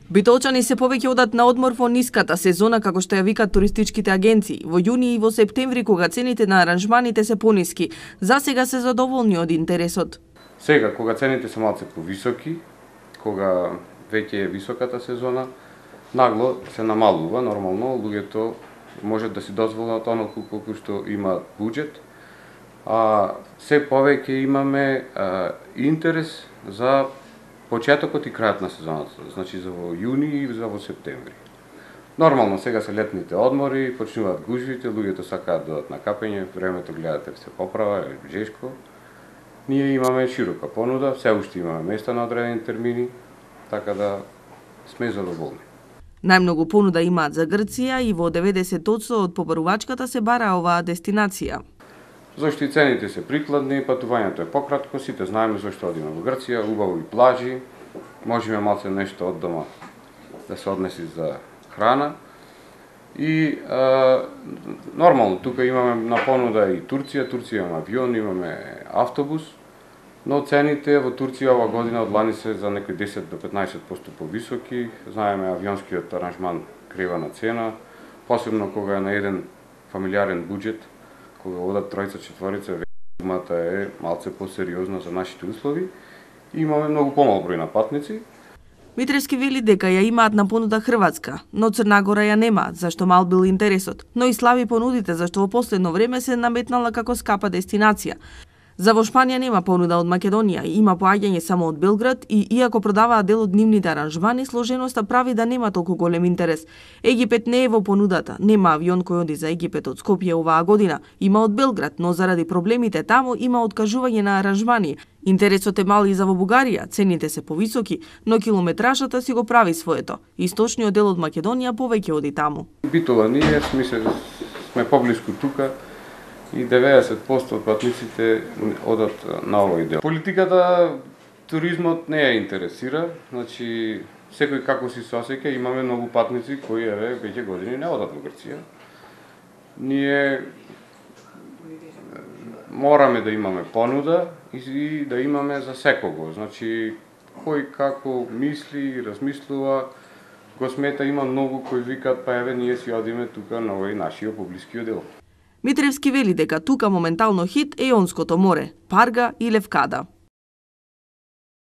Битолчани се повеќе одат на одмор во ниската сезона, како што ја викаат туристичките агенции, во јуни и во септември, кога цените на аранжманите се пониски. За сега се задоволни од интересот. Сега, кога цените се малце повисоки, кога веќе е високата сезона, нагло се намалува, нормално, луѓето можат да си дозволат оноку колку што имаат буџет, а се повеќе имаме интерес за почетокот и крајот на сезоната, значи за во јуни и за во септември. Нормално сега се летните одмори, почнуваат гужвите, луѓето сакаат да одат на капење, времето гледате се поправа, е жешко. Ние имаме широка понуда, се уште имаме места на одредени термини, така да сме задоволни. Најмногу понуда имаат за Грција и во 90% од побарувачката се бара оваа дестинација. Зашто и цените се прикладни, патувањето е пократко, сите знаеме зашто одиме во Грција, убаво и плажи, можеме малце нешто од дома да се однеси за храна. И нормално, тука имаме на понуда и Турција, имаме авион, имаме автобус, но цените во Турција ова година од лани се за некои 10 до 15% повисоки. Знаеме авионскиот аранжман крива на цена, посебно кога е на еден фамилиарен буџет, кога одат тројца, четворица, сумата е малце посериозна за нашите услови. Имаме многу помал број на патници. Митревски вели дека ја имаат на понуда Хрватска, но Црна Гора ја немаат, зашто мал бил интересот, но и слаби понудите зашто во последно време се наметнала како скапа дестинација. За во Шпанија нема понуда од Македонија, има поаѓање само од Белград и иако продаваат дел од нивните аранжмани, сложеноста прави да нема толку голем интерес. Египет не е во понудата, нема авион кој оди за Египет од Скопје оваа година, има од Белград, но заради проблемите таму има откажување на аранжмани. Интересот е мал и за во Бугарија, цените се повисоки, но километражата си го прави своето. Источниот дел од Македонија повеќе оди таму. Битола ние сме поблиску тука, и 90% од патниците одат на овој дел. Политиката, туризмот не ја интересира, значи секој како си се осеќа, имаме многу патници кои веќе години не одат во Грција. Ние мораме да имаме понуда и да имаме за секого, значи кој како мисли и размислува, го смета, има многу кои викаат па еве ние си одиме тука на овој нашиот поблискиот дел. Митревски вели дека тука моментално хит е Јонското море, Парга и Левкада.